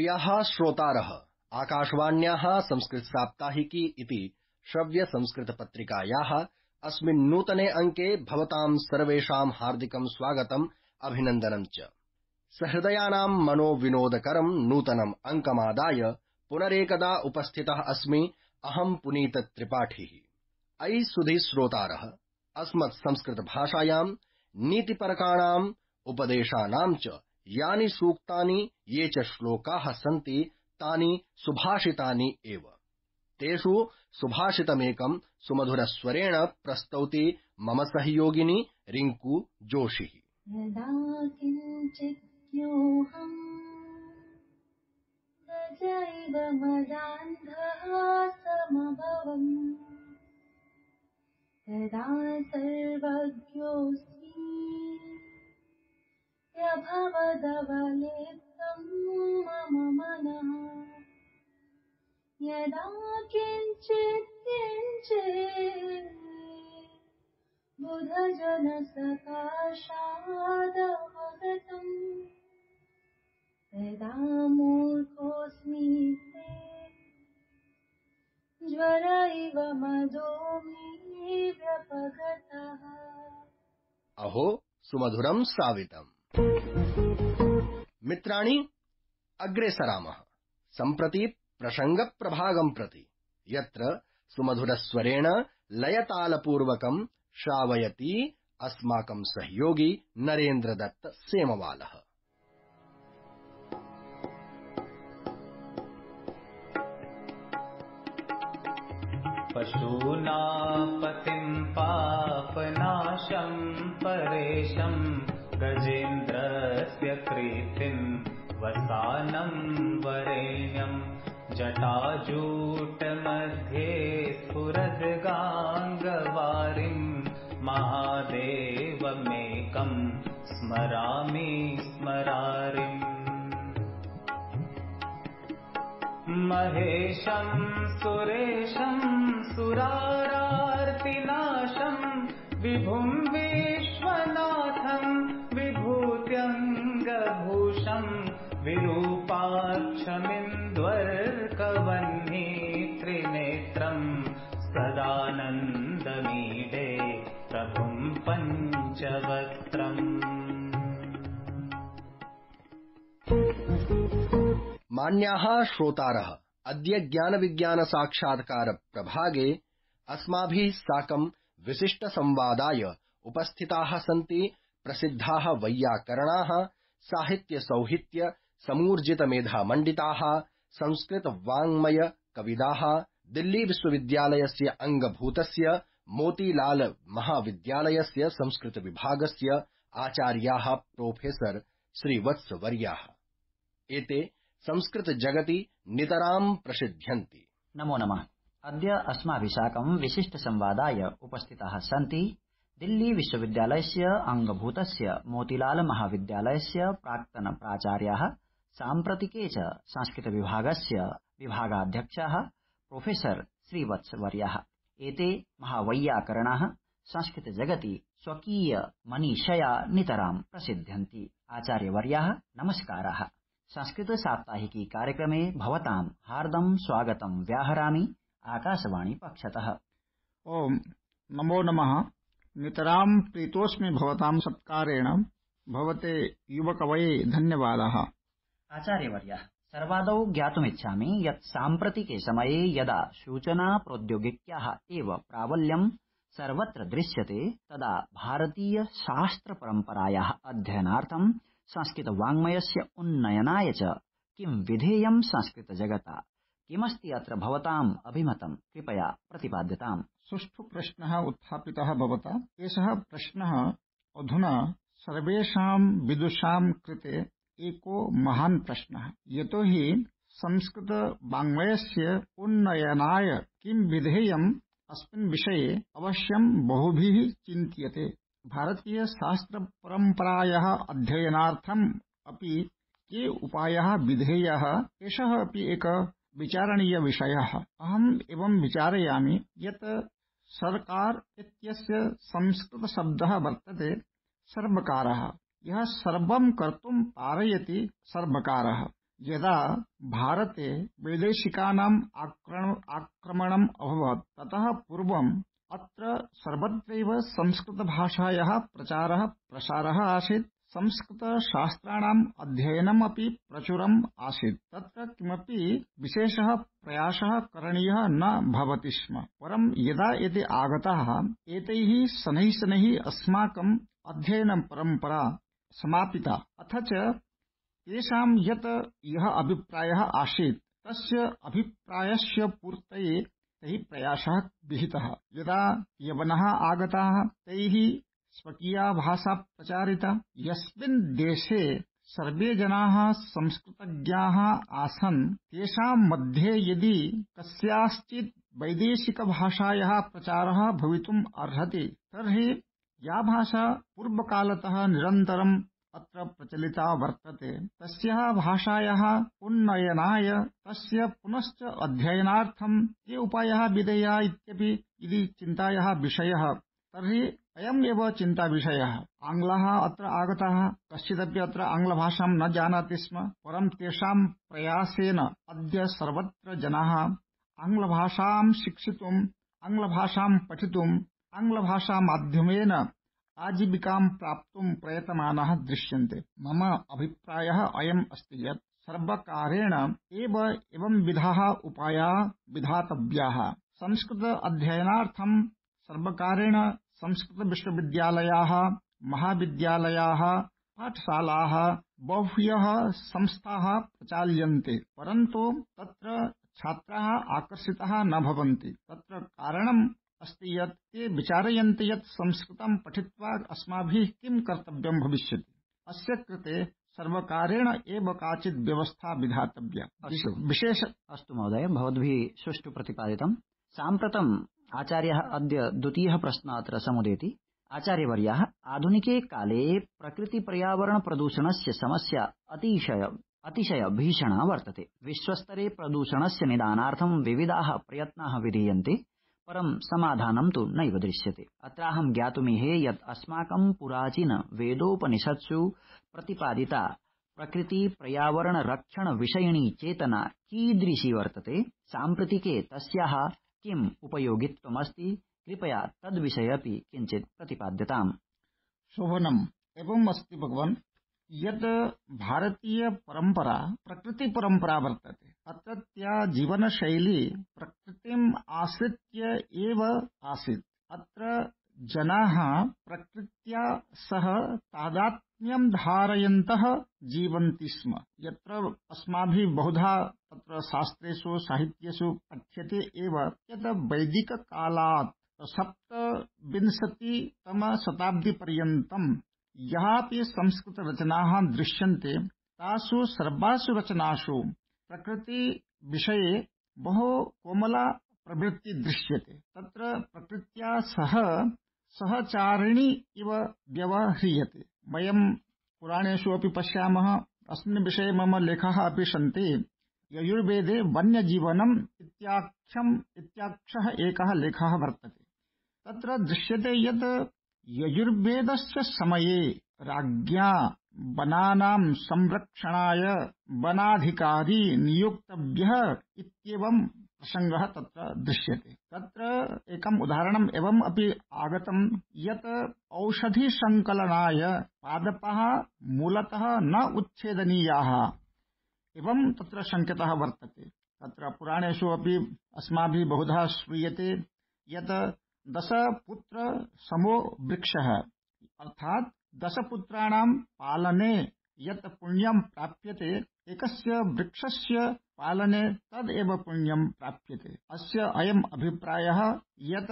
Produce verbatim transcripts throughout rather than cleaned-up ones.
प्रियाः श्रोतारः, आकाशवाण्याः संस्कृत साप्ताहिकी इति श्रव्य संस्कृत पत्रिकायाः अस्मिन् नूतने अंके भवतां सर्वेषां हार्दिकं स्वागतम् अभिनन्दनं च। सहृदयानां मनोविनोदकरं नूतनम् अंकमादाय पुनरेकदा उपस्थितः अस्मि अहं पुनीत त्रिपाठी। अयि सुधी श्रोतारः, अस्मत् संस्कृत भाषायां नीतिपरकाणाम् उपदेशानां च यानि सूक्तानि ये च श्लोकाः सन्ति तानि सुभाषितानि एव। तेषु सुभाषितमेकं सुमधुरस्वरेण प्रस्तौति मम सहयोगिनी रिंकू जोशी। यदा किञ्चिद्योऽहं गजैव मदान्धः समभवम् तदा सर्वज्ञोऽस्मि प्रभवदवलिप्तं मम मनः। यदा किञ्चित् किञ्चित् बुधजनसकाशादवगतम् तदा मूर्खोऽस्मि ज्वर इव मदो मे व्यपगतः। अहो सुमधुरं श्रावितम्। मित्राणि, अग्रे सरामः सम्प्रति प्रसङ्गप्रभागं प्रति, यत्र सुमधुरस्वरेण लयतालपूर्वकं श्रावयति अस्माकं सहयोगी नरेन्द्रदत्त सेमवालः। पशूनापतिं पापनाशं परेशं गजेन्द्रस्य कीर्तिं वसानं वरेण्यं जटाजूटमध्ये स्फुरद्गाङ्गवारिं महादेवमेकं स्मरामि स्मरारिम्। महेशं सुरेशं सुरारार्तिनाशं विभुं विश्वनाथं विभूत्यङ्गभूषं विरूपाक्षमिन्द्वर्कवह्नि त्रिनेत्रं सदानन्दमीडे प्रभुं पञ्चवक्त्रम्। मान्याः श्रोतारः, अद्य ज्ञानविज्ञान साक्षात्कार प्रभागे अस्माभिः साकं विशिष्ट संवादाय उपस्थिताः सन्ति प्रसिद्धाः वैयाकरणाः, साहित्य सौहित्य समूर्जित मेधामण्डिताः, संस्कृत वाङ्मय कविदाः, दिल्ली विश्वविद्यालयस्य अंगभूतस्य मोतीलाल महाविद्यालयस्य संस्कृत विभागस्य आचार्याः प्रोफेसर श्रीवत्सवर्याः। एते संस्कृत जगति नितरां प्रसिद्ध्यन्ति। नमो नमः। अद्य अस्माभिः साकं विशिष्ट संवादाय उपस्थिताः सन्ति दिल्ली विश्वविद्यालयस्य अंगभूतस्य मोतीलाल महाविद्यालयस्य प्राक्तन प्राचार्याः, साम्प्रतिके च संस्कृत विभागस्य विभागाध्यक्षाः प्रोफेसर श्रीवत्सवर्याः। एते महावैयाकरणाः संस्कृत जगति स्वकीय मनीषया नितरां प्रसिद्ध्यन्ति। आचार्यवर्याः, नमस्काराः। संस्कृत साप्ताहिकी कार्यक्रमे भवतां हार्दं स्वागतं व्याहरामि आकाशवाणी पक्षतः। ओम नमो नमः। नितरां प्रीतोऽस्मि भवतां सत्कारेण। भवते युवकवये धन्यवादाः। आचार्यवर्यः, सर्वादौ ज्ञातुमिच्छामि यत् साम्प्रतिके समये यदा सूचना प्रौद्योगिक्याः एव प्राबल्यं सर्वत्र दृश्यते तदा भारतीय शास्त्र परम्परायाः अध्ययनार्थं संस्कृत वाङ्मयस्य उन्नयनाय च किं विधेयं संस्कृत जगता, किमस्ति अत्र भवताम् अभिमतं कृपया प्रतिपाद्यताम्। सुष्ठु प्रश्नः उत्थापितः भवता। एषः प्रश्नः अधुना सर्वेषां विदुषां कृते एको महान् प्रश्नः। यतोहि संस्कृत वाङ्मयस्य उन्नयनाय किं विधेयम् अस्मिन् विषये अवश्यं बहुभिः चिन्त्यते। भारतीय शास्त्र परम्परायाः अध्ययनार्थम् अपि के उपायाः विधेयाः, एषः अपि एक विचारणीय विषयः। अहम् एवं विचारयामि यत् सर्वकार इत्यस्य संस्कृत शब्दः वर्तते सर्वकारः। यः सर्वं कर्तुं पारयति सर्वकारः। यदा भारते वैदेशिकानाम् आक्रमणम् अभवत् ततः पूर्वम् अत्र सर्वत्रैव संस्कृतभाषायाः प्रचारः प्रसारः आसीत्। संस्कृतशास्त्राणाम् अध्ययनम् अपि प्रचुरम् आसीत्। तत्र किमपि विशेषः प्रयासः करणीयः न भवति स्म। परं यदा एते आगताः एतैः शनैः शनैः अस्माकम् अध्ययन परम्परा समापिता। अथ च तेषां यत् यः अभिप्रायः आसीत् तस्य अभिप्रायस्य पूर्तये तैः प्रयासः विहितः। यदा यवनः आगताः तैः स्वकीया भाषा प्रचारिता। यस्मिन् देशे सर्वे जनाः संस्कृतज्ञाः आसन् तेषां मध्ये यदि कस्याश्चित् वैदेशिकभाषायाः प्रचारः भवितुम् अर्हति तर्हि या भाषा पूर्वकालतः निरन्तरम् अत्र प्रचलिता वर्तते तस्याः भाषायाः उन्नयनाय तस्य पुनश्च अध्ययनार्थं ये उपायाः विधेयाः इत्यपि यदि चिन्तायाः विषयः तर्हि अयम् एव चिन्ता विषयः। आङ्ग्लाः अत्र आगताः। कश्चिदपि अत्र आङ्ग्लभाषां न जानाति स्म। परं तेषां प्रयासेन अद्य सर्वत्र जनाः आङ्ग्लभाषां शिक्षितुम् आङ्ग्लभाषां पठितुम् आङ्ग्लभाषामाध्यमेन आजीविकां प्राप्तुं प्रयतमानाः दृश्यन्ते। मम अभिप्रायः अयम् अस्ति यत् सर्वकारेण एव एवं विधाः उपायाः विधातव्याः। संस्कृत अध्ययनार्थं सर्वकारेण संस्कृत विश्वविद्यालयाः महाविद्यालयाः पाठशालाः बह्व्यः संस्थाः प्रचाल्यन्ते। परन्तु तत्र छात्राः आकर्षिताः न भवन्ति। तत्र कारणम् अस्ति यत् ते विचारयन्ति यत् संस्कृतं पठित्वा अस्माभिः किं कर्तव्यं भविष्यति। अस्य कृते सर्वकारेण एव काचित् व्यवस्था विधातव्या। विशेष अस्तु महोदय, भवद्भिः सुष्ठु प्रतिपादितम्। साम्प्रतम् आचार्यः अद्य द्वितीयः प्रश्नः अत्र समुदेति। आचार्यवर्याः, आधुनिके काले प्रकृति पर्यावरण प्रदूषणस्य समस्या अतिशय अतिशय भीषणा वर्तते। विश्वस्तरे प्रदूषणस्य निदानार्थं विविधाः प्रयत्नाः विधीयन्ते, परं समाधानं तु नैव दृश्यते। अत्राहं ज्ञातुमीहे यत् अस्माकं पुराचीन वेदोपनिषत्सु प्रतिपादिता प्रकृति पर्यावरण रक्षण विषयिणी चेतना कीदृशी वर्तते, साम्प्रतिके तस्याः किम् उपयोगित्वमस्ति, कृपया तद्विषये अपि किञ्चित् प्रतिपाद्यताम्। शोभनम्। एवम् अस्ति भगवन् यत् भारतीय परम्परा प्रकृति परम्परा वर्तते। अत्रत्या जीवनशैली प्रकृतिम् आश्रित्य एव आसीत्। अत्र जनाः प्रकृत्या सह तादात्म्यं धारयन्तः जीवन्ति स्म। यत्र अस्माभिः बहुधा तत्र शास्त्रेषु साहित्येषु पठ्यते एव यत् वैदिककालात् सप्तविंशतितमशताब्दीपर्यन्तं यापि संस्कृतरचनाः दृश्यन्ते तासु सर्वासु रचनासु प्रकृतिविषये बहु कोमला प्रवृत्ति दृश्यते। तत्र प्रकृत्या सह सहचारिणी इव व्यवह्रियते। वयं पुराणेषु अपि पश्यामः। अस्मिन् विषये मम लेखाः अपि सन्ति। यजुर्वेदे वन्यजीवनम् इत्याख्यम् इत्याख्यः एकः लेखः वर्तते। तत्र दृश्यते यत् यजुर्वेदस्य समये राज्ञा वनानां संरक्षणाय वनाधिकारी नियुक्तव्यः इत्येवं प्रसङ्गः तत्र दृश्यते। तत्र एकम् उदाहरणम् एवम् अपि आगतं यत् औषधिसङ्कलनाय पादपाः मूलतः न उच्छेदनीयाः एवं तत्र संकेतः वर्तते। तत्र पुराणेषु अपि अस्माभिः बहुधा श्रूयते यत् दशपुत्र समो वृक्षः, अर्थात् दशपुत्राणां पालने यत् पुण्यं प्राप्यते एकस्य वृक्षस्य पालने तदेव पुण्यं प्राप्यते। अस्य अयम् अभिप्रायः यत्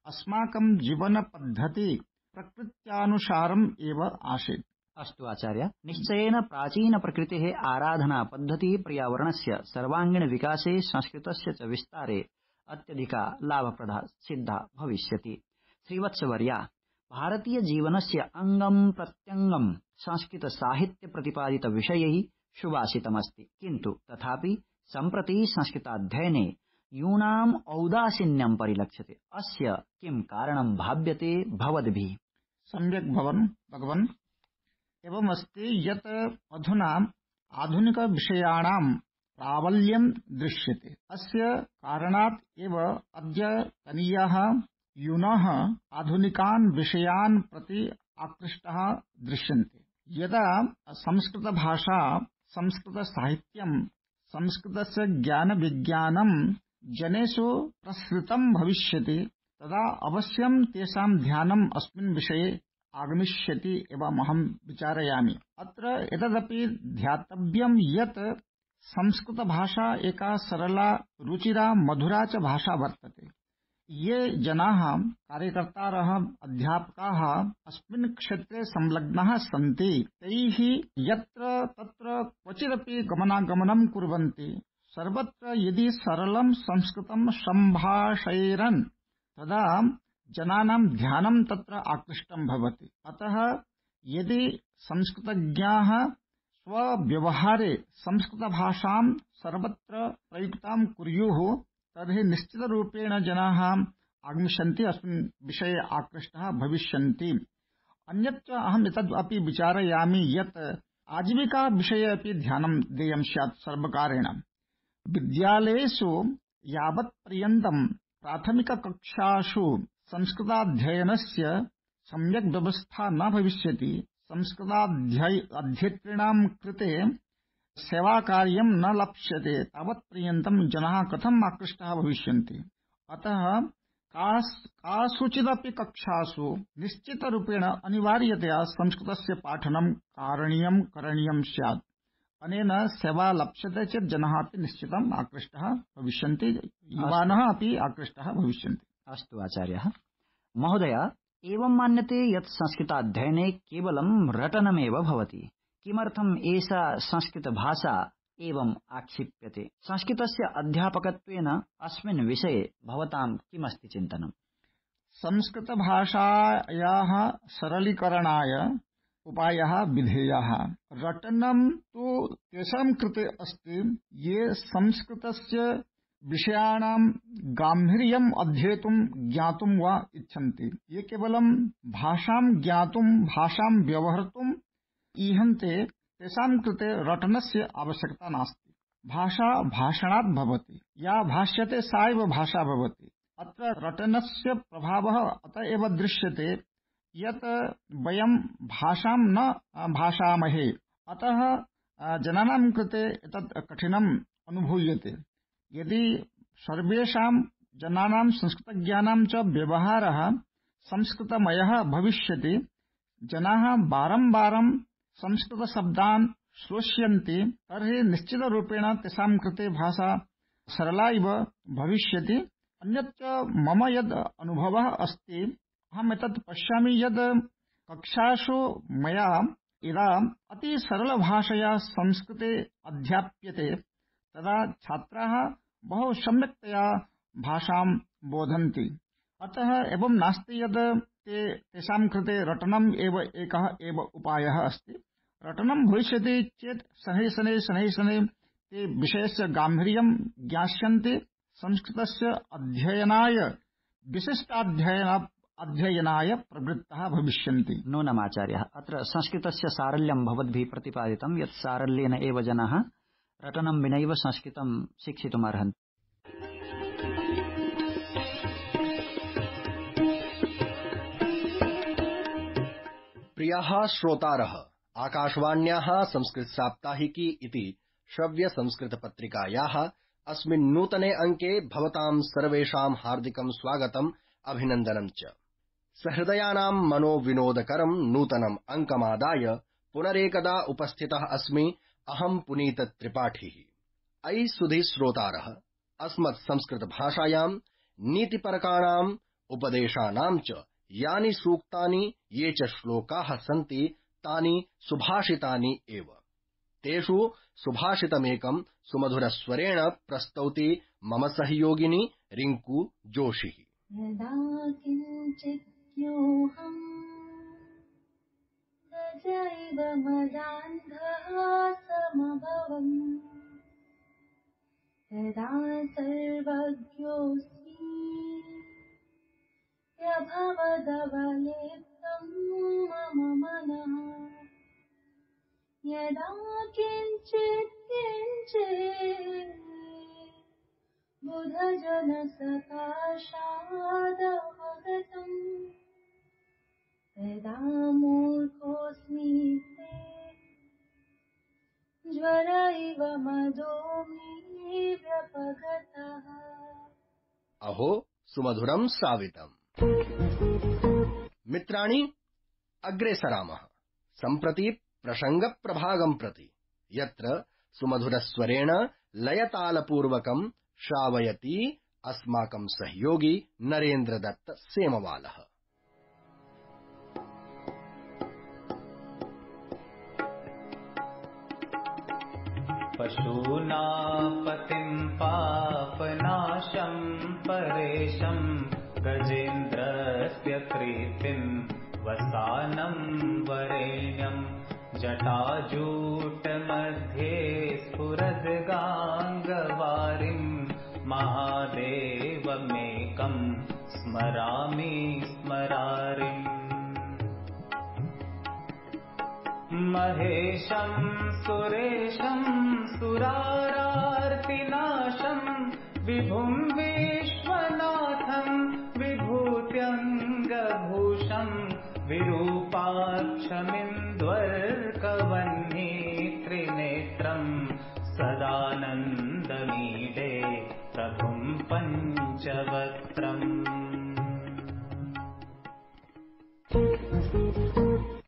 अस्माकं जीवनपद्धति प्रकृत्यानुसारम् एव आसीत्। अस्तु आचार्य, निश्चयेन प्राचीन प्रकृतेः आराधना पद्धतिः पर्यावरणस्य सर्वाङ्गीण विकासे संस्कृतस्य च विस्तारे अत्यधिका लाभप्रदा सिद्धा भविष्यति। श्रीवत्सवर्या, भारतीय जीवनस्य अङ्गं प्रत्यङ्गं संस्कृत साहित्य प्रतिपादित विषयैः सुभाषितमस्ति, किन्तु तथापि सम्प्रति संस्कृताध्ययने यूनाम् औदासीन्यं परिलक्ष्यते। अस्य किं कारणं भाव्यते भवद्भिः? सम्यक् भवन् भगवन्। एवमस्ति यत् अधुना आधुनिक विषयाणां प्राबल्यं दृश्यते। अस्य कारणात् एव अद्यतनीयाः यूनः आधुनिकान् विषयान् प्रति आकृष्टाः दृश्यन्ते। यदा संस्कृतभाषा, संस्कृतसाहित्यं, संस्कृतस्य ज्ञानविज्ञानं जनेषु प्रसृतं भविष्यति तदा अवश्यं तेषां ध्यानम् अस्मिन् विषये आगमिष्यति एवं अहं विचारयामि। अत्र एतदपि ध्यातव्यं यत् संस्कृतभाषा एका सरला, रुचिरा, मधुरा च भाषा वर्तते। ये जनाः, कार्यकर्तारः, अध्यापकाः अस्मिन् क्षेत्रे संलग्नाः सन्ति तैः यत्र तत्र क्वचिदपि गमनागमनं कुर्वन्ति सर्वत्र यदि सरलं संस्कृतं सम्भाषयेरन् तदा जनानां ध्यानं तत्र आकृष्टं भवति। अतः यदि संस्कृतज्ञाः स्वव्यवहारे संस्कृतभाषां सर्वत्र प्रयुक्तां कुर्युः तर्हि निश्चितरूपेण जनाः आगमिष्यन्ति, अस्मिन् विषये आकृष्टाः भविष्यन्ति। अन्यच्च अहम् एतद् अपि विचारयामि यत् आजीविका विषये अपि ध्यानं देयं स्यात् सर्वकारेण। विद्यालयेषु यावत् पर्यन्तं प्राथमिककक्षासु संस्कृताध्ययनस्य सम्यक् व्यवस्था न भविष्यति, संस्कृताध्येतॄणां कृते सेवाकार्यं न लप्स्यते, तावत् पर्यन्तं जनाः कथम् आकृष्टाः भविष्यन्ति। अतः कासुचिदपि कक्षासु निश्चितरूपेण अनिवार्यतया संस्कृतस्य पाठनं कारणीयं करणीयं स्यात्। अनेन सेवा लप्स्यते चेत् जनाः अपि निश्चितम् आकृष्टाः भविष्यन्ति, युवानः अपि आकृष्टाः भविष्यन्ति। अस्तु आचार्यः महोदय, एवं मान्यते यत् संस्कृताध्ययने केवलं रटनमेव भवति। किमर्थम् एषा संस्कृतभाषा एवं आक्षिप्यते? संस्कृतस्य अध्यापकत्वेन अस्मिन् विषये भवतां किमस्ति चिन्तनम्? संस्कृतभाषायाः सरलीकरणाय उपायः विधेयः। रटनं तु तेषां कृते अस्ति ये संस्कृतस्य विषयाणां गाम्भीर्यम् अध्येतुं ज्ञातुं वा इच्छन्ति। ये केवलं भाषां ज्ञातुं, भाषां व्यवहर्तुं ईहन्ते तेषां कृते रटनस्य आवश्यकता नास्ति। भाषा भाषणात् भवति, या भाष्यते सा एव भाषा भवति। अत्र रटनस्य प्रभावः अत एव दृश्यते यत् वयं भाषां न भाषामहे, अतः जनानां कृते एतत् कठिनम् अनुभूयते। यदि सर्वेषां जनानां संस्कृतज्ञानां च व्यवहारः संस्कृतमयः भविष्यति, जनाः बारम्बारं संस्कृतशब्दान् श्रोष्यन्ति, तर्हि निश्चितरूपेण तेषां कृते भाषा सरला इव भविष्यति। अन्यच्च मम यद् अनुभवः अस्ति, अहम् एतत् पश्यामि यद् कक्षासु मया यदा अति सरलभाषया संस्कृते अध्याप्यते तदा छात्राः बहु सम्यक्तया भाषां बोधन्ति। अतः एवं नास्ति यद् ते तेषां कृते रटनम् एव एकः एव उपायः अस्ति। रटनं भविष्यति चेत् शनैः शनैः शनैः शनैः ते विषयस्य गाम्भीर्यं ज्ञास्यन्ति, संस्कृतस्य अध्ययनाय विशिष्टाध्ययन अध्ययनाय प्रवृत्ताः भविष्यन्ति। नूनमाचार्यः, अत्र संस्कृतस्य सारल्यं भवद्भिः प्रतिपादितं यत् सारल्येन एव जनाः रटनं विनैव संस्कृतं शिक्षितुमर्हन्ति। प्रियाः श्रोतारः, आकाशवाण्याः संस्कृत साप्ताहिकी इति श्रव्य संस्कृत पत्रिकायाः अस्मिन् नूतने अंके भवतां सर्वेषां हार्दिकं स्वागतम्, अभिनन्दनं च। सहृदयानां मनोविनोदकरं नूतनम् अंकमादाय पुनरेकदा उपस्थितः अस्मि अहं पुनीत त्रिपाठी। अयि सुधी श्रोतारः, अस्मत् संस्कृत भाषायां नीतिपरकाणाम् उपदेशानां च यानि सूक्तानि, ये च श्लोकाः सन्ति तानि सुभाषितानि एव। तेषु सुभाषितमेकं सुमधुरस्वरेण प्रस्तौति मम सहयोगिनी रिंकू जोशी। यदा किञ्चिद्योऽहम् गजैव मदान्धः समभवम् तदा सर्वज्ञोऽस्मि प्रभवदवलिप्तं मम मनः। यदा किञ्चित् भजन सकाशादवगतम् तदा मूर्खोऽस्मि ते ज्वर इव मदो मे व्यपगतः। अहो सुमधुरं श्रावितम्। मित्राणि, अग्रे सरामः सम्प्रति प्रसङ्गप्रभागं प्रति, यत्र सुमधुरस्वरेण लयतालपूर्वकं श्रावयति अस्माकं सहयोगी नरेन्द्रदत्त सेमवालः। पशूनापतिं पापनाशं परेशं गजेन्द्रस्य कीर्तिं वसानं वरेण्यं जटाजूटमध्ये स्फुरद्गाङ्गवारिं महादेवमेकं स्मरामि स्मरारिम्। महेशं सुरेशं सुरारार्तिनाशं विभुं विश्वनाथं विभूत्यङ्गभूषं विरूपाक्षमिन्द्वर्कवह्नि त्रिनेत्रं सदानन्दमीडे प्रभुं पञ्चवक्त्रम्।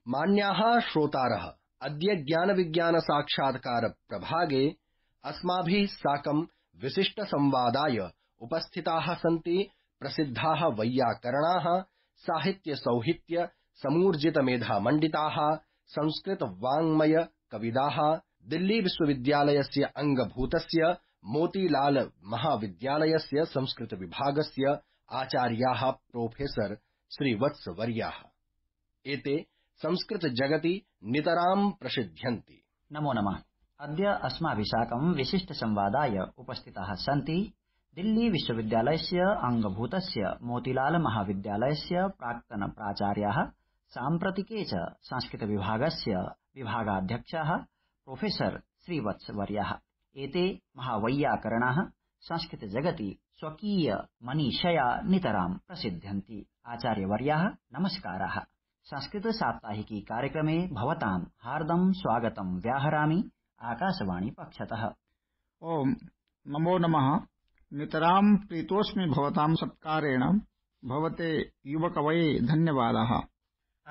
मान्याः श्रोतारः, अद्य ज्ञानविज्ञान साक्षात्कार प्रभागे अस्माभिः साकं विशिष्टसंवादाय उपस्थिताः सन्ति प्रसिद्धाः वैयाकरणाः, साहित्यसौहित्य समूर्जितमेधामण्डिताः, संस्कृतवाङ्मय कविदाः, दिल्ली विश्वविद्यालयस्य अङ्गभूतस्य मोतीलाल महाविद्यालयस्य संस्कृतविभागस्य आचार्याः प्रोफेसर श्रीवत्सवर्याः। एते संस्कृत जगति नितरां प्रसिद्ध्यन्ति। नमो नमः। अद्य अस्माभिः साकं विशिष्ट संवादाय उपस्थिताः सन्ति दिल्ली विश्वविद्यालयस्य अङ्गभूतस्य मोतीलाल महाविद्यालयस्य प्राक्तन प्राचार्याः, साम्प्रतिके च संस्कृत विभागस्य विभागाध्यक्षाः प्रोफेसर श्रीवत्सवर्याः। एते महावैयाकरणाः संस्कृत जगति स्वकीय मनीषया नितरां प्रसिद्ध्यन्ति। आचार्यवर्याः, नमस्काराः। संस्कृत साप्ताहिकी कार्यक्रमे भवतां हार्दं स्वागतं व्याहरामि आकाशवाणी पक्षतः। ओम नमो नमः। नितरां प्रीतोऽस्मि भवतां सत्कारेण। भवते युवकवये धन्यवादाः।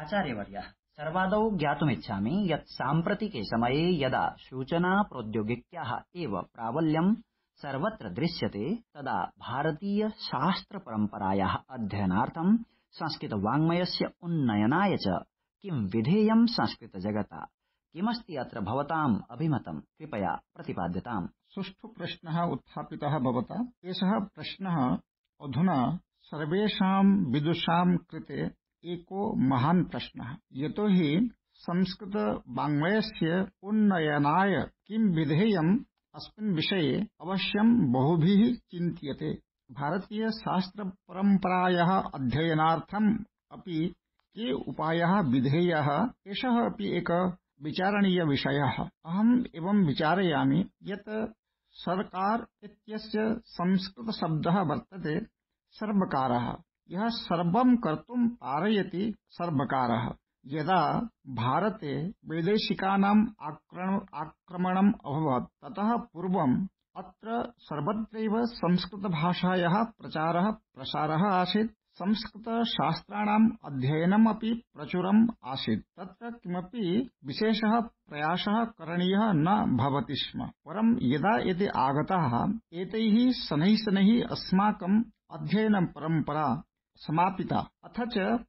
आचार्यवर्यः, सर्वादौ ज्ञातुमिच्छामि यत् साम्प्रतिके समये यदा सूचना प्रौद्योगिक्याः एव प्राबल्यं सर्वत्र दृश्यते, तदा भारतीय शास्त्र परम्परायाः अध्ययनार्थं संस्कृत वाङ्मयस्य उन्नयनाय च किं विधेयं संस्कृत जगता, किमस्ति अत्र भवताम् अभिमतं, कृपया प्रतिपाद्यताम्। सुष्ठु प्रश्नः उत्थापितः भवता। एषः प्रश्नः अधुना सर्वेषां विदुषां कृते एको महान् प्रश्नः। यतो हि संस्कृत वाङ्मयस्य उन्नयनाय किं विधेयम् अस्मिन् विषये अवश्यं बहुभिः चिन्त्यते। भारतीय शास्त्र परम्परायाः अध्ययनार्थम् अपि के उपायाः विधेयाः, एषः अपि एक विचारणीय विषयः। अहम् एवं विचारयामि यत् सर्वकार इत्यस्य संस्कृत शब्दः वर्तते सर्वकारः। यः सर्वं कर्तुं पारयति सर्वकारः। यदा भारते वैदेशिकानाम् आक्रमणम् अभवत्, ततः पूर्वम् अत्र सर्वत्रैव संस्कृतभाषायाः प्रचारः प्रसारः आसीत्। संस्कृतशास्त्राणाम् अध्ययनम् अपि प्रचुरम् आसीत्। तत्र किमपि विशेषः प्रयासः करणीयः न भवति स्म। परं यदा एते आगताः, एतैः शनैः शनैः अस्माकम् अध्ययन परम्परा समापिता। अथ च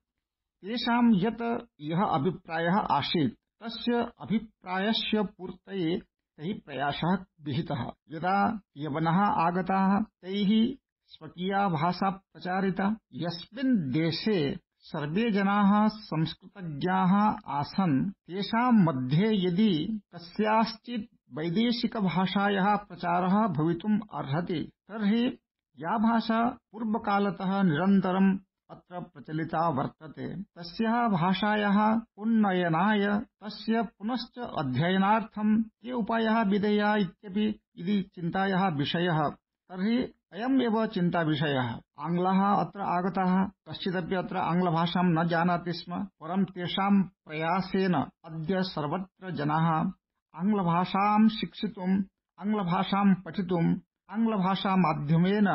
तेषां यत् यः अभिप्रायः आसीत्, तस्य अभिप्रायस्य पूर्तये तैः प्रयासः विहितः। यदा यवनः आगताः, तैः स्वकीया भाषा प्रचारिता। यस्मिन् देशे सर्वे जनाः संस्कृतज्ञाः आसन्, तेषां मध्ये यदि कस्याश्चित् वैदेशिकभाषायाः प्रचारः भवितुम् अर्हति, तर्हि या भाषा पूर्वकालतः निरन्तरम् अत्र प्रचलिता वर्तते, तस्याः भाषायाः उन्नयनाय, तस्य पुनश्च अध्ययनार्थं के उपायाः विधेयाः इत्यपि यदि चिन्तायाः विषयः, तर्हि अयम् एव चिन्ताविषयः। आङ्ग्लाः अत्र आगताः, कश्चिदपि अत्र आङ्ग्लभाषां न जानाति स्म, परं तेषां प्रयासेन अद्य सर्वत्र जनाः आङ्ग्लभाषां शिक्षितुम्, आङ्ग्लभाषां पठितुम्, आङ्ग्लभाषामाध्यमेन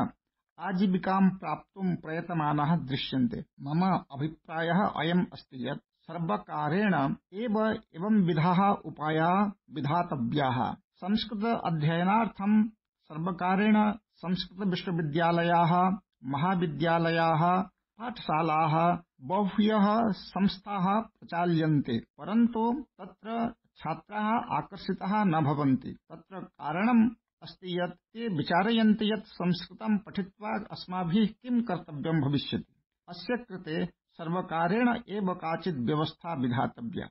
आजीविकां प्राप्तुं प्रयतमानाः दृश्यन्ते। मम अभिप्रायः अयम् अस्ति यत् सर्वकारेण एव एवं विधाः उपायाः विधातव्याः। संस्कृत अध्ययनार्थं सर्वकारेण संस्कृत विश्वविद्यालयाः, महाविद्यालयाः, पाठशालाः, बह्व्यः संस्थाः प्रचाल्यन्ते, परन्तु तत्र छात्राः आकर्षिताः न भवन्ति। तत्र कारणम् अस्ति यत् ते विचारयन्ति यत् संस्कृतं पठित्वा अस्माभिः किं कर्तव्यं भविष्यति। अस्य कृते सर्वकारेण एव काचित् व्यवस्था विधातव्या।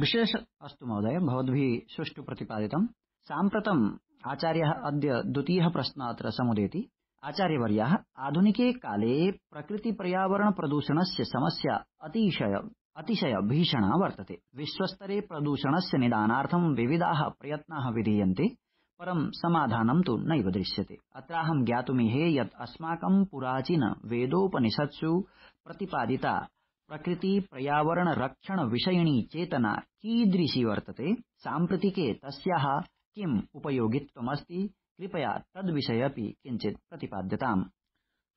विशेष अस्तु महोदय, भवद्भिः सुष्ठु प्रतिपादितम्। साम्प्रतम् आचार्यः अद्य द्वितीयः प्रश्नः अत्र समुदेति। आचार्यवर्याः, आधुनिके काले प्रकृति पर्यावरण प्रदूषणस्य समस्या अतिशय अतिशय भीषणा वर्तते। विश्वस्तरे प्रदूषणस्य निदानार्थं विविधाः प्रयत्नाः विधीयन्ते, परं समाधानं तु नैव दृश्यते। अत्राहं ज्ञातुमीहे यत् अस्माकं पुराचीन वेदोपनिषत्सु प्रतिपादिता प्रकृति पर्यावरण रक्षण विषयिणी चेतना कीदृशी वर्तते, साम्प्रतिके तस्याः किम् उपयोगित्वमस्ति, कृपया तद्विषये अपि किञ्चित् प्रतिपाद्यताम्।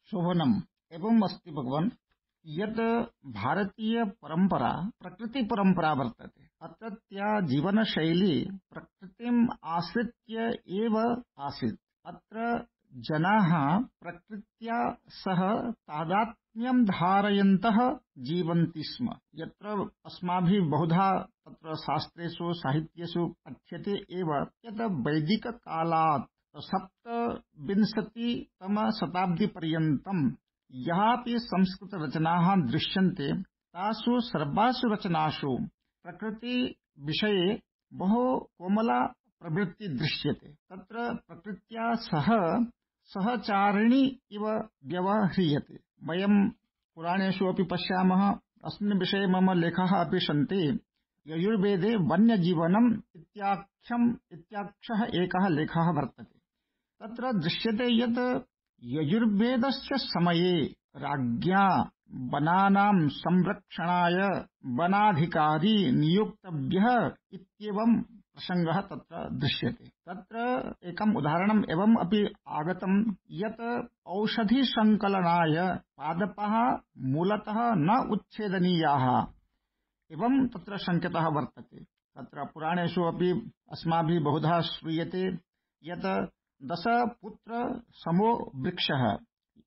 शोभनम्। एवम् अस्ति भगवन् यत् भारतीय परंपरा प्रकृति परंपरा वर्तते। अत्रत्या जीवनशैली प्रकृतिम् आश्रित्य एव आसीत्। अत्र जनाः प्रकृत्या सह तादात्म्यं धारयन्तः जीवन्ति स्म। यत्र अस्माभिः बहुधा तत्र शास्त्रेषु साहित्येषु पठ्यते एव यत् वैदिककालात् सप्तविंशतितम शताब्दीपर्यन्तं यापि संस्कृत रचनाः दृश्यन्ते, तासु सर्वासु रचनासु प्रकृति विषये बहु कोमला प्रवृत्ति दृश्यते। तत्र प्रकृत्या सह सहचारिणी इव व्यवह्रियते। वयं पुराणेषु अपि पश्यामः। अस्मिन् विषये मम लेखाः अपि सन्ति। यजुर्वेदे वन्यजीवनम् इत्याख्यम् इत्याख्यः एकः लेखः वर्तते। तत्र दृश्यते यत् यजुर्वेदस्य समये राज्ञा वनानां संरक्षणाय वनाधिकारी नियुक्तव्यः इत्येवं प्रसङ्गः तत्र दृश्यते। तत्र एकम् उदाहरणम् एवम् अपि आगतं यत् औषधिसङ्कलनाय पादपाः मूलतः न उच्छेदनीयाः एवं तत्र संकेतः वर्तते। तत्र पुराणेषु अपि अस्माभिः बहुधा श्रूयते यत् दशपुत्र समो वृक्षः,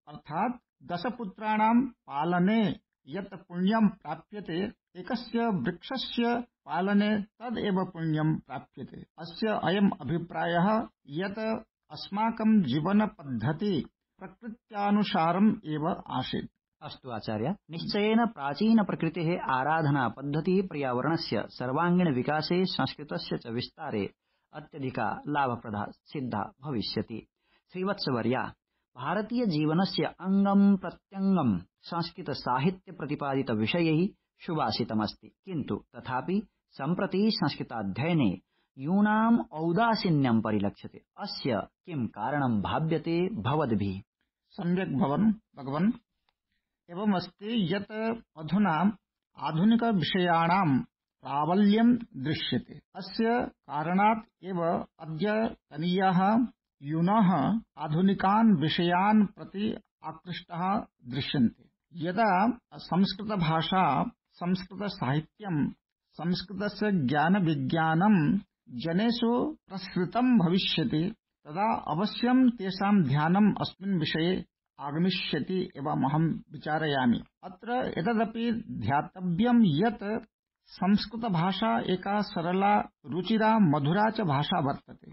अर्थात् दशपुत्राणां पालने यत् पुण्यं प्राप्यते, एकस्य वृक्षस्य पालने तदेव पुण्यं प्राप्यते। अस्य अयम् अभिप्रायः यत् अस्माकं जीवनपद्धति प्रकृत्यानुसारम् एव आसीत्। अस्तु आचार्य, निश्चयेन प्राचीन प्रकृतेः आराधना पद्धतिः पर्यावरणस्य सर्वांगीण विकासे संस्कृतस्य च विस्तारे अत्यधिका लाभप्रदा सिद्धा भविष्यति। श्रीवत्सवर्या, भारतीय जीवनस्य अंगं प्रत्यंगं संस्कृत साहित्य प्रतिपादित विषयैः सुभाषितमस्ति, किन्तु तथापि सम्प्रति संस्कृताध्ययने यूनाम् औदासीन्यं परिलक्ष्यते। अस्य किं कारणं भाव्यते भवद्भिः? सम्यक् भवन् भगवन्। एवमस्ति यत् अधुना आधुनिक विषयाणां प्राबल्यं दृश्यते। अस्य कारणात् एव अद्यतनीयाः यूनः आधुनिकान् विषयान् प्रति आकृष्टाः दृश्यन्ते। यदा संस्कृतभाषा, संस्कृतसाहित्यं, संस्कृतस्य ज्ञानविज्ञानं जनेषु प्रसृतं भविष्यति, तदा अवश्यं तेषां ध्यानम् अस्मिन् विषये आगमिष्यति एवम् अहं विचारयामि। अत्र एतदपि ध्यातव्यं यत् संस्कृत भाषा एका सरला, रुचिरा, मधुरा च भाषा वर्तते।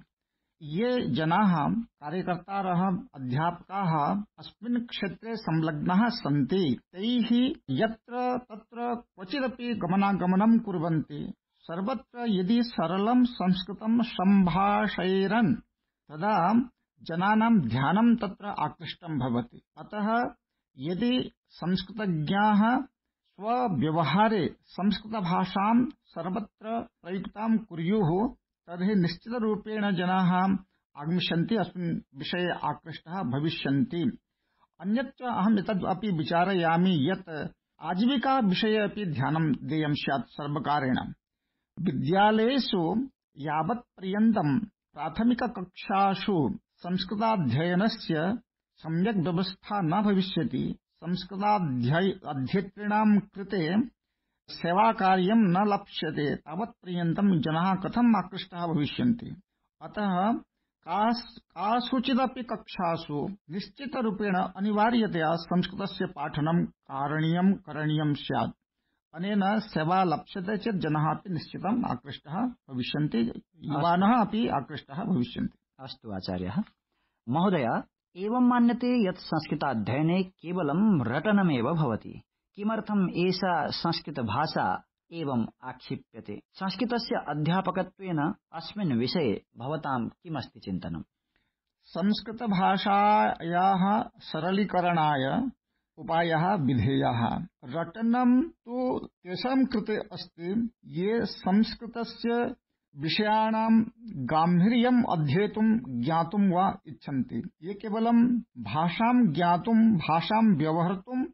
ये जनाः, कार्यकर्तारः, अध्यापकाः अस्मिन् क्षेत्रे संलग्नाः सन्ति, तैः यत्र तत्र क्वचिदपि गमनागमनं कुर्वन्ति, सर्वत्र यदि सरलं संस्कृतं सम्भाषयेरन्, तदा जनानां ध्यानं तत्र आकृष्टं भवति। अतः यदि संस्कृतज्ञाः स्वव्यवहारे संस्कृतभाषां सर्वत्र प्रयुक्तां कुर्युः, तर्हि निश्चितरूपेण जनाः आगमिष्यन्ति, अस्मिन् विषये आकृष्टः भविष्यन्ति। अन्यच्च अहम् एतद् अपि विचारयामि यत् आजीविका विषये अपि ध्यानं देयं स्यात् सर्वकारेण। विद्यालयेषु यावत् पर्यन्तं प्राथमिककक्षासु संस्कृताध्ययनस्य सम्यक् व्यवस्था न भविष्यति, संस्कृताध्येतॄणां कृते सेवाकार्यं न लप्स्यते, तावत् पर्यन्तं जनाः कथम् आकृष्टाः भविष्यन्ति। अतः कासुचिदपि कक्षासु निश्चितरूपेण अनिवार्यतया संस्कृतस्य पाठनं कारणीयं करणीयं स्यात्। अनेन सेवा लप्स्यते चेत् जनाः अपि निश्चितम् आकृष्टाः भविष्यन्ति, युवानः अपि आकृष्टाः भविष्यन्ति। अस्तु आचार्यः महोदय, एवं मान्यते यत् संस्कृताध्ययने केवलं रटनमेव भवति। किमर्थम् एषा संस्कृतभाषा एवं आक्षिप्यते? संस्कृतस्य अध्यापकत्वेन अस्मिन् विषये भवतां किमस्ति चिन्तनम्? संस्कृतभाषायाः सरलीकरणाय उपायः विधेयः। रटनं तु तेषां कृते अस्ति ये संस्कृतस्य विषयाणां गाम्भीर्यम् अध्येतुं ज्ञातुं वा इच्छन्ति। ये केवलं भाषां ज्ञातुं भाषां व्यवहर्तुम्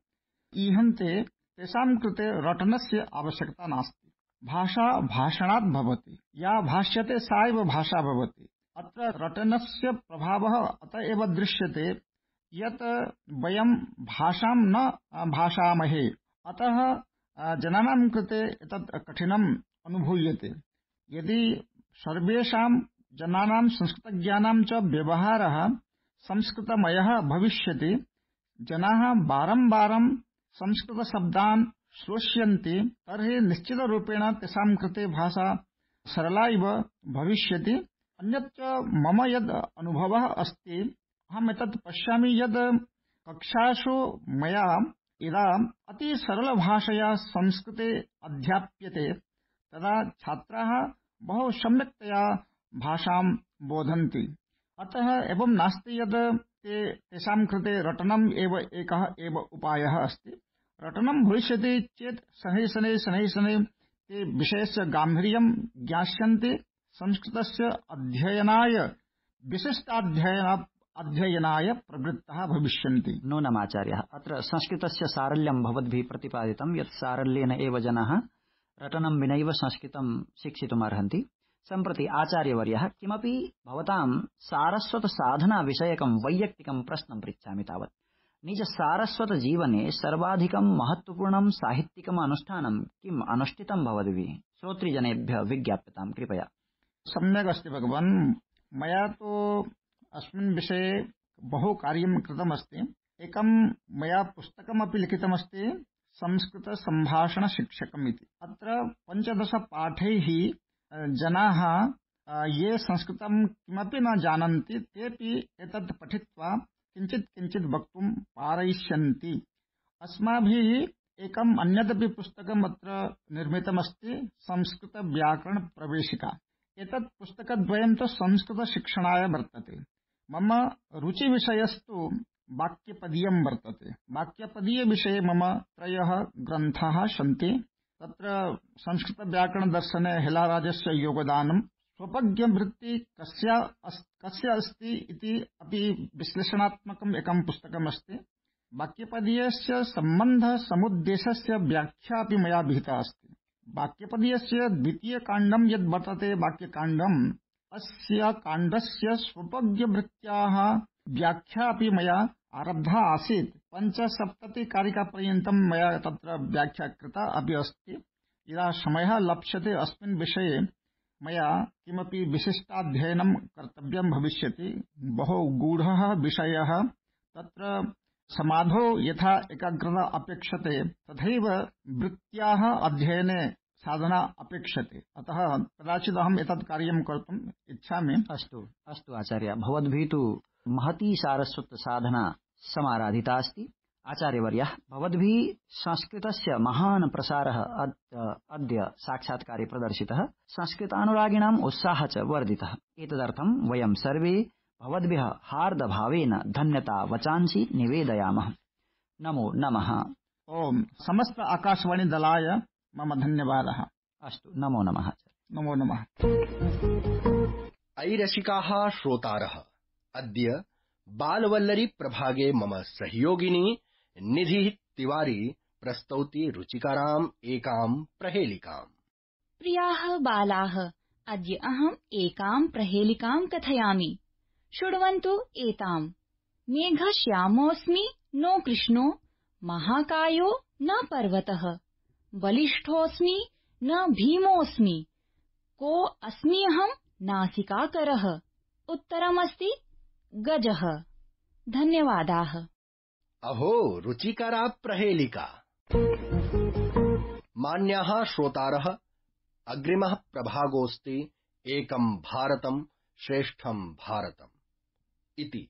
ईहन्ते, तेषां कृते रटनस्य आवश्यकता नास्ति। भाषा भाषणात् भवति, या भाष्यते सा एव भाषा भवति। अत्र रटनस्य प्रभावः अत एव दृश्यते यत् वयं भाषां न भाषामहे, अतः जनानां कृते एतत् कठिनम् अनुभूयते। यदि सर्वेषां जनानां संस्कृतज्ञानां च व्यवहारः संस्कृतमयः भविष्यति, जनाः बारम्बारं संस्कृतशब्दान् श्रोष्यन्ति, तर्हि निश्चितरूपेण तेषां कृते भाषा सरला इव भविष्यति। अन्यच्च मम यद् अनुभवः अस्ति, अहम् एतत् पश्यामि यद् कक्षासु मया यदा अति सरलभाषया संस्कृते अध्याप्यते, तदा छात्राः बहु सम्यक्तया भाषां बोधन्ति। अतः एवं नास्ति यद् ते तेषां कृते रटनम् एव एकः एव उपायः अस्ति। रटनं भविष्यति चेत् शनैः शनैः शनैः शनैः ते विषयस्य गाम्भीर्यं ज्ञास्यन्ति, संस्कृतस्य अध्ययनाय विशिष्टाध्ययन अध्ययनाय प्रवृत्ताः भविष्यन्ति। नूनमाचार्यः, अत्र संस्कृतस्य सारल्यं भवद्भिः प्रतिपादितं यत् सारल्येन एव जनाः रटनं विनैव संस्कृतं शिक्षितुमर्हन्ति। सम्प्रति आचार्यवर्यः किमपि भवतां सारस्वतसाधनाविषयकं वैयक्तिकं प्रश्नं पृच्छामि तावत्। निज सारस्वत जीवने सर्वाधिकं महत्वपूर्णं साहित्यिकम् अनुष्ठानं किम् अनुष्ठितं भवद्भिः? श्रोतृजनेभ्यः विज्ञाप्यतां कृपया। सम्यक् अस्ति भगवान्, मया तु अस्मिन् विषये बहु कार्यं कृतमस्ति। एकं मया पुस्तकमपि लिखितमस्ति, संस्कृतसम्भाषणशिक्षकम् इति। अत्र पञ्चदश पाठैः जनाः ये संस्कृतं किमपि न जानन्ति, तेपि एतत् पठित्वा किञ्चित् किञ्चित् वक्तुं पारयिष्यन्ति। अस्माभिः एकम् अन्यदपि पुस्तकम् अत्र निर्मितमस्ति, संस्कृतव्याकरणप्रवेशिका। एतत् पुस्तकद्वयं तु संस्कृतशिक्षणाय वर्तते। मम रुचिविषयस्तु वाक्यपदीयं वर्तते। वाक्यपदीयविषये मम त्रयः ग्रन्थाः सन्ति। तत्र संस्कृतव्याकरणदर्शने हेलाराजस्य योगदानं, स्वपज्ञवृत्ति कस्य कस्य अस्ति इति अपि विश्लेषणात्मकम् एकं पुस्तकमस्ति। वाक्यपदीयस्य सम्बन्धसमुद्देशस्य व्याख्या अपि मया विहिता अस्ति। वाक्यपदीयस्य द्वितीयकाण्डं यद् वर्तते वाक्यकाण्डम्, अस्य काण्डस्य स्वपज्ञवृत्त्याः व्याख्या अपि मया आरब्धा आसीत्। पञ्चसप्ततिकारिकापर्यन्तं मया तत्र व्याख्या कृता अपि अस्ति। यदा समयः लप्स्यते अस्मिन् विषये मया किमपि विशिष्टाध्ययनं कर्तव्यं भविष्यति। बहु गूढः विषयः, तत्र समाधौ यथा एकाग्रता अपेक्षते तथैव वृत्त्याः अध्ययने साधना अपेक्षते। अतः कदाचित् अहम् एतत् कार्यं कर्तुम् इच्छामि। अस्तु अस्तु आचार्य, भवद्भिः तु महती सारस्वत साधना समाराधिता अस्ति। आचार्यवर्यः, भवद्भिः संस्कृतस्य महान् प्रसारः अद्य साक्षात्कारे प्रदर्शितः, संस्कृतानुरागिणाम् उत्साहः च वर्धितः। एतदर्थं वयं सर्वे भवद्भ्यः हार्दभावेन धन्यता वचांसि निवेदयामः। नमो नमः। ओम समस्त आकाशवाणी दलाय मम धन्यवादः। अस्तु, नमो नमः। नमो नमः। अयि रसिकाः श्रोतारः, अद्य बालवल्लरी प्रभागे मम सहयोगिनी निधिः तिवारी प्रस्तौति रुचिकराम् एकां प्रहेलिकाम्। प्रियाः बालाः, अद्य अहम् एकां प्रहेलिकां कथयामि। शृण्वन्तु एताम्। मेघश्यामोऽस्मि नो कृष्णो, महाकायो न पर्वतः, बलिष्ठोऽस्मि न भीमोऽस्मि, को अस्मि अहम् नासिकाकरः। उत्तरमस्ति गजः। धन्यवादाः। अहो, रुचिकरा प्रहेलिका। मान्याः श्रोतारः, अग्रिमः प्रभागोऽस्ति एकं भारतं श्रेष्ठं भारतम् इति,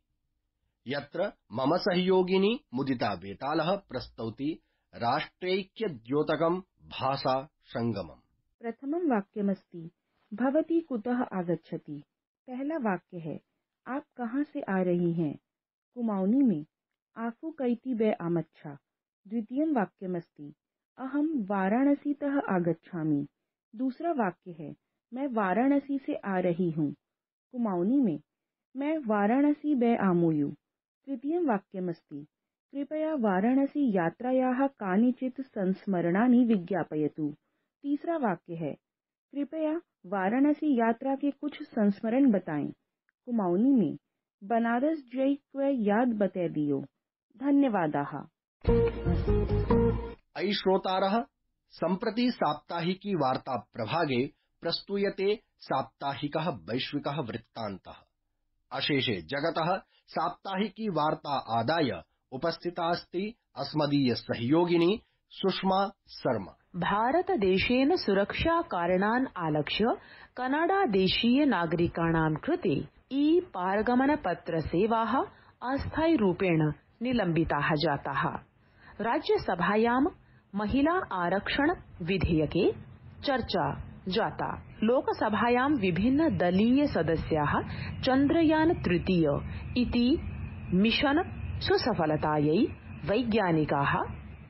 यत्र मम सहयोगिनी मुदिता बेतालः प्रस्तौति राष्ट्रैक्यद्योतकं भाषा संगमम्। प्रथमं वाक्यमस्ति भवती कुतः आगच्छति। पहला वाक्य है आप कहाँ से आ रही हैं। कुमाऊनी में आफू कैती बे आमच्छा। द्वितीयं वाक्यमस्ति अहम वाराणसीतः आगच्छामि। दूसरा वाक्य है मैं वाराणसी से आ रही हूँ। कुमाऊनी में मैं वाराणसी बे आमूयु। तृतीयं वाक्यमस्ति कृपया वाराणसी यात्रायाः कानिचित् संस्मरणानि विज्ञापयतु। तीसरा वाक्य है कृपया वाराणसी यात्रा के कुछ संस्मरण बताएं। कुमाऊनी में बनारस जई क्वे याद बते दियो। धन्यवादाः। अयि श्रोतारः, सम्प्रति साप्ताहिकी वार्ता प्रभागे प्रस्तूयते साप्ताहिकः वैश्विकः वृत्तान्तः। अशेषे जगतः साप्ताहिकी वार्ता आदाय उपस्थिता अस्ति अस्मदीय सहयोगिनी सुषमा शर्मा। भारतदेशेन सुरक्षाकारणान् आलक्ष्य कनाडादेशीय नागरिकाणां कृते ई पारगमनपत्रसेवाः अस्थायिरूपेण निलम्बिताः जाताः। राज्यसभायां महिला आरक्षण विधेयके चर्चा जाता। लोकसभायां विभिन्न दलीय सदस्याः चन्द्रयान तृतीय इति मिशन सुसफलतायै वैज्ञानिकाः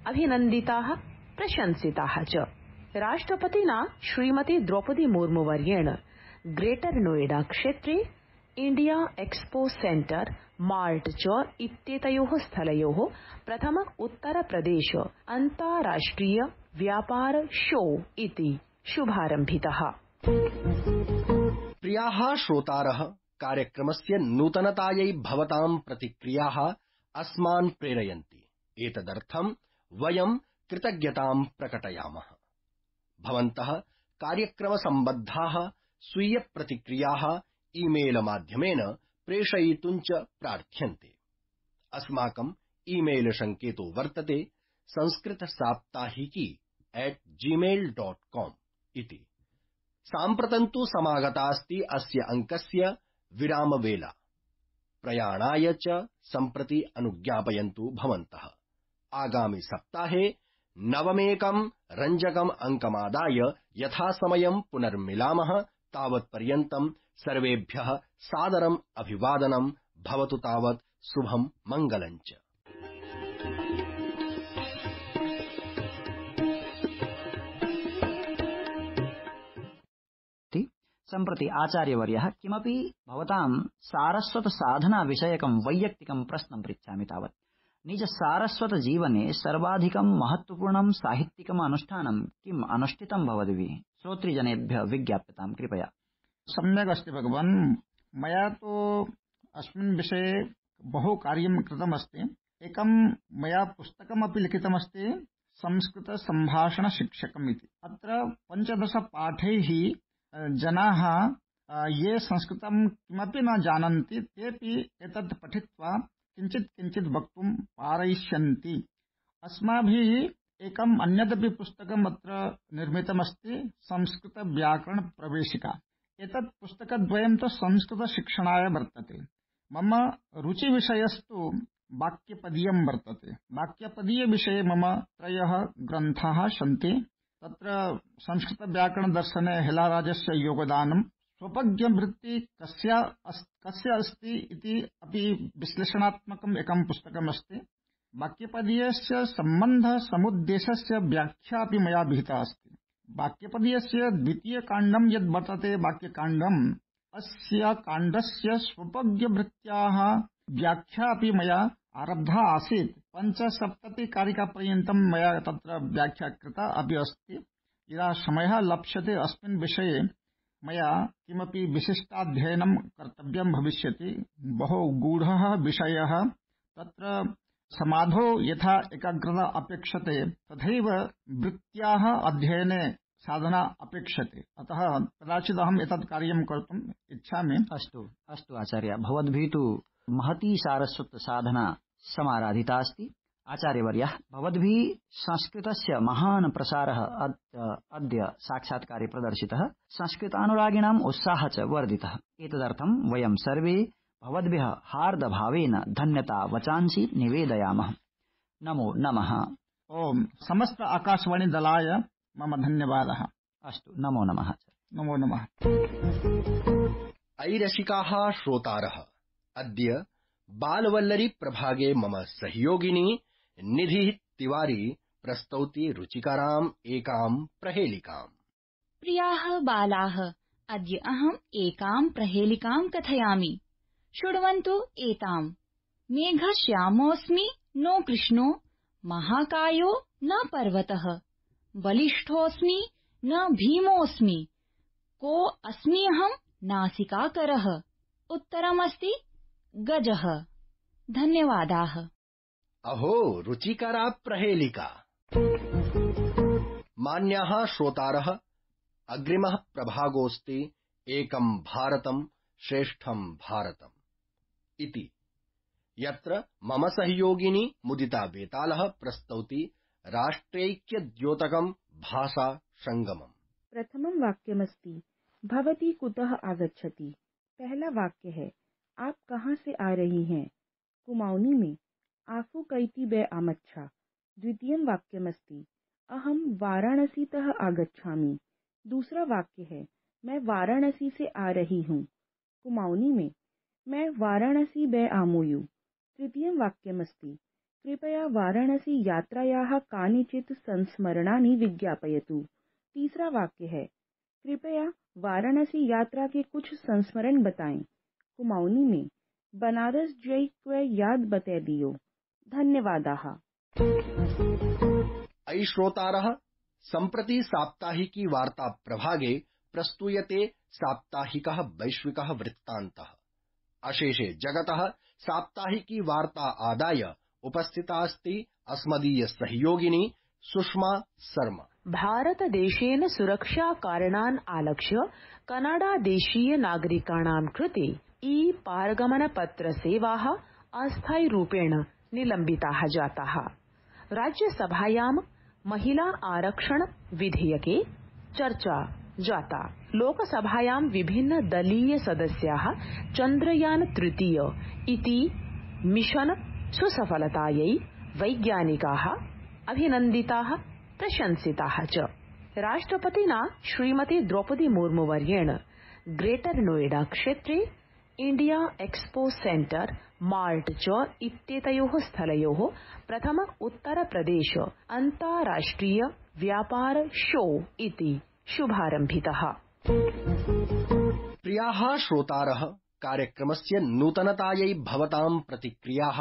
अभिनन्दिताः प्रशंसिताः च। राष्ट्रपतिना श्रीमती द्रौपदी मुर्मुवर्येण ग्रेटर नोएडा क्षेत्रे इंडिया एक्सपो सेंटर मार्ट च इत्येतयोः स्थलयोः प्रथम उत्तर प्रदेश अन्ताराष्ट्रिय व्यापार शो इति शुभारम्भितः। प्रियाः श्रोतारः, कार्यक्रमस्य नूतनतायै भवतां प्रतिक्रियाः अस्मान् प्रेरयन्ति। एतदर्थं वयं कृतज्ञतां प्रकटयामः। भवन्तः कार्यक्रमसम्बद्धाः स्वीय प्रतिक्रियाः ईमेल माध्यमेन प्रेषयितुं च प्रार्थ्यन्ते। अस्माकं ईमेल संकेतो वर्तते संस्कृतसाप्ताहिकी एट जीमेल डॉट कॉम इति। साम्प्रतं तु समागतास्ति अस्य अङ्कस्य विरामवेला। प्रयाणाय च सम्प्रति अनुज्ञापयन्तु भवन्तः। आगामि सप्ताहे नवमेकं रञ्जकम् अङ्कमादाय यथासमयं पुनर्मिलामः। तावत्पर्यन्तं सर्वेभ्यः सादरम् अभिवादनं भवतु। तावत् शुभं मङ्गलं च। सम्प्रति आचार्यवर्यः किमपि भवतां सारस्वत साधना विषयकं वैयक्तिकं प्रश्नं पृच्छामि। तावत् निज सारस्वत जीवने सर्वाधिकं महत्वपूर्णं साहित्यिकम् अनुष्ठानं किम् अनुष्ठितं भवद्भिः? श्रोतृजनेभ्यः विज्ञाप्यतां कृपया। सम्यक् अस्ति भगवान्। मया तु अस्मिन् विषये बहु कार्यं कृतमस्ति। एकं मया पुस्तकमपि लिखितमस्ति संस्कृत सम्भाषण शिक्षकम् इति। अत्र पञ्चदश पाठैः जनाः ये संस्कृतं किमपि न जानन्ति तेपि एतत् पठित्वा किञ्चित् किञ्चित् वक्तुं पारयिष्यन्ति। अस्माभिः एकम् अन्यदपि पुस्तकम् अत्र निर्मितमस्ति संस्कृत व्याकरण प्रवेशिका। एतत् पुस्तकद्वयं तु संस्कृतशिक्षणाय वर्तते। मम रुचिविषयस्तु वाक्यपदीयं वर्तते। वाक्यपदीयविषये मम त्रयः ग्रन्थाः सन्ति। तत्र संस्कृतव्याकरणदर्शने हेलाराजस्य योगदानं, स्वपज्ञवृत्ति कस्य कस्य अस्ति इति अपि विश्लेषणात्मकम् एकं पुस्तकमस्ति। वाक्यपदीयस्य सम्बन्धसमुद्देशस्य व्याख्या अपि मया विहिता अस्ति। वाक्यपदीयस्य द्वितीयकाण्डं यद् वर्तते वाक्यकाण्डम्, अस्य काण्डस्य स्वपज्ञवृत्त्याः व्याख्या अपि मया आरब्धा आसीत्। पञ्चसप्ततिकारिकापर्यन्तं मया तत्र व्याख्या कृता अपि अस्ति। यदा समयः लप्स्यते अस्मिन् विषये मया किमपि विशिष्टाध्ययनं कर्तव्यं भविष्यति। बहु गूढः विषयः। तत्र समाधौ यथा एकाग्रता अपेक्षते तथैव वृत्त्याः अध्ययने साधना अपेक्षते। अतः कदाचित् अहम् एतत् कार्यं कर्तुम् इच्छामि। अस्तु अस्तु आचार्य, भवद्भिः तु महती सारस्वत साधना समाराधिता अस्ति। आचार्यवर्यः, भवद्भिः संस्कृतस्य महान् प्रसारः अद्य साक्षात्कारे प्रदर्शितः। संस्कृतानुरागिणाम् उत्साहः च वर्धितः। एतदर्थं वयं सर्वे भवद्भ्यः हार्दभावेन धन्यता वचांसि निवेदयामः। नमो नमः। ओम समस्त आकाशवाणी दलाय मम धन्यवादः। अस्तु, नमो नमः। नमो नमः। अयि रसिकाः श्रोतारः, अद्य बालवल्लरी प्रभागे मम सहयोगिनी निधिः तिवारी प्रस्तौति रुचिकराम् एकां प्रहेलिकाम्। प्रियाः बालाः, अद्य अहम् एकां प्रहेलिकां कथयामि। शृण्वन्तु एताम्। मेघश्यामोऽस्मि नो कृष्णो, महाकायो न पर्वतः, बलिष्ठोऽस्मि न भीमोऽस्मि, को अस्मि अहम् नासिकाकरः। उत्तरमस्ति गजः। धन्यवादाः। अहो, रुचिकरा प्रहेलिका। मान्याः श्रोतारः, अग्रिमः प्रभागोऽस्ति एकं भारतं श्रेष्ठं भारतम् इति, यत्र मम सहयोगिनी मुदिता बेतालः प्रस्तौति राष्ट्रैक्यद्योतकं भाषा संगमम्। प्रथमं वाक्यमस्ति भवती कुतः आगच्छति। पहला वाक्य है आप कहाँ से आ रही हैं। कुमाऊनी में आफू कैती बे आमच्छा। द्वितीयं वाक्यमस्ति अहम वाराणसीतः आगच्छामि। दूसरा वाक्य है मैं वाराणसी से आ रही हूँ। कुमाऊनी में मैं वाराणसी बे आमूयु। तृतीयं वाक्यमस्ति कृपया वाराणसी यात्रायाः कानिचित् संस्मरणानि विज्ञापयतु। तीसरा वाक्य है कृपया वाराणसी यात्रा के कुछ संस्मरण बताएं। कुमाऊनी में बनारस जई क्वे याद बते दियो। धन्यवादाः। अयि श्रोतारः, सम्प्रति साप्ताहिकी वार्ता प्रभागे प्रस्तूयते साप्ताहिकः वैश्विकः वृत्तान्तः। अशेषे जगतः साप्ताहिकी वार्ता आदाय उपस्थिता अस्ति अस्मदीय सहयोगिनी सुषमा शर्मा। भारतदेशेन सुरक्षा कारणान् आलक्ष्य कनाडा देशीय नागरिकाणां कृते ई पारगमन पत्र सेवाः अस्थायी रूपेण निलम्बिताः जाताः। राज्यसभायां महिला आरक्षण विधेयके चर्चा जाता। लोकसभायां विभिन्न दलीय सदस्याः चन्द्रयान तृतीय इति मिशन सुसफलतायै वैज्ञानिकाः अभिनन्दिताः प्रशंसिताः च। राष्ट्रपतिना श्रीमती द्रौपदी मुर्मू वर्येण ग्रेटर नोएडा क्षेत्रे इंडिया एक्सपो सेंटर मार्ट च इत्येतयोः स्थलयोः प्रथम उत्तर प्रदेश अन्ताराष्ट्रिय व्यापार शो इति शुभारम्भितः। प्रियाः श्रोतारः, कार्यक्रमस्य नूतनतायै भवतां प्रतिक्रियाः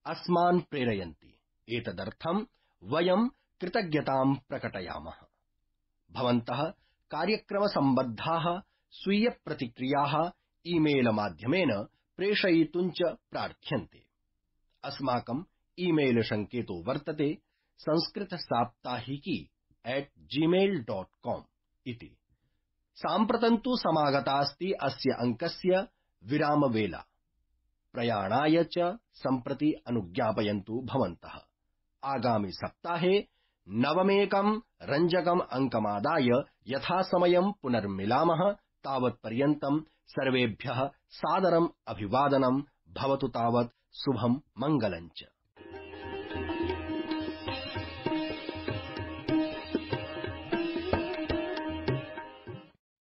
अस्मान् प्रेरयन्ति। एतदर्थं वयं कृतज्ञतां प्रकटयामः। भवन्तः कार्यक्रमसम्बद्धाः स्वीय प्रतिक्रियाः ईमेल माध्यमेन प्रेषयितुं च प्रार्थ्यन्ते। अस्माकं ईमेल संकेतो वर्तते संस्कृतसाप्ताहिकी एट जीमेल डॉट कॉम इति। साम्प्रतं तु समागतास्ति अस्य अङ्कस्य विरामवेला। प्रयाणाय च सम्प्रति अनुज्ञापयन्तु भवन्तः। आगामि सप्ताहे नवमेकं रञ्जकम् अङ्कमादाय यथासमयं पुनर्मिलामः। तावत्पर्यन्तं सर्वेभ्यः सादरम् अभिवादनं भवतु। तावत् शुभं मङ्गलञ्च।